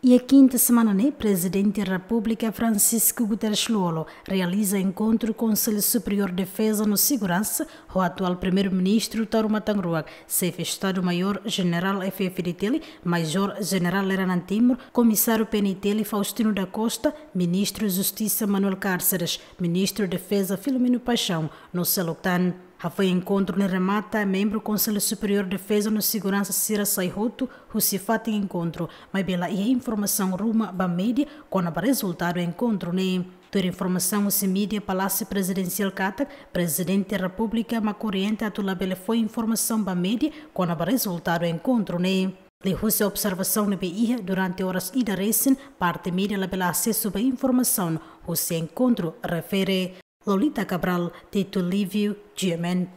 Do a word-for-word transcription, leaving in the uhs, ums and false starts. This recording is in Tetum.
Iha kinta semana ne'e, Prezidente Repúblika Francisco Guterres Lú-Olo realiza enkontru Konsellu Superiór Defeza no Seguransa ho atuál Primeiru-Ministru Taur Matan Ruak, Xefe Estadu-Maiór Jenerál F F D T L, Majór Jenerál Leranan Timur, Komisáriu P N T L Faustino da Costa, Ministru Justisa Manuel Cárceres, Ministru Defeza Filomeno Paixão, no seluk tan. Hafoin enkontru ne'e remata, membru Konsellu Superiór Defeza no Seguransa sira sai hotu husi fatin enkontru, maibé la iha informasaun ruma ba média kona-ba rezultadu enkontru ne'e. Tuir informasaun husi média Palásiu Prezidensiál katak, Prezidente Repúblika mak orienta atu labele fó informasaun ba média kona-ba rezultadu enkontru ne'e. Liuhusi observasaun ne'ebé iha durante oras ida resin, parte média labele asesu ba informasaun husi enkontru refere. Lolita Cabral, Tito Livio, G M N.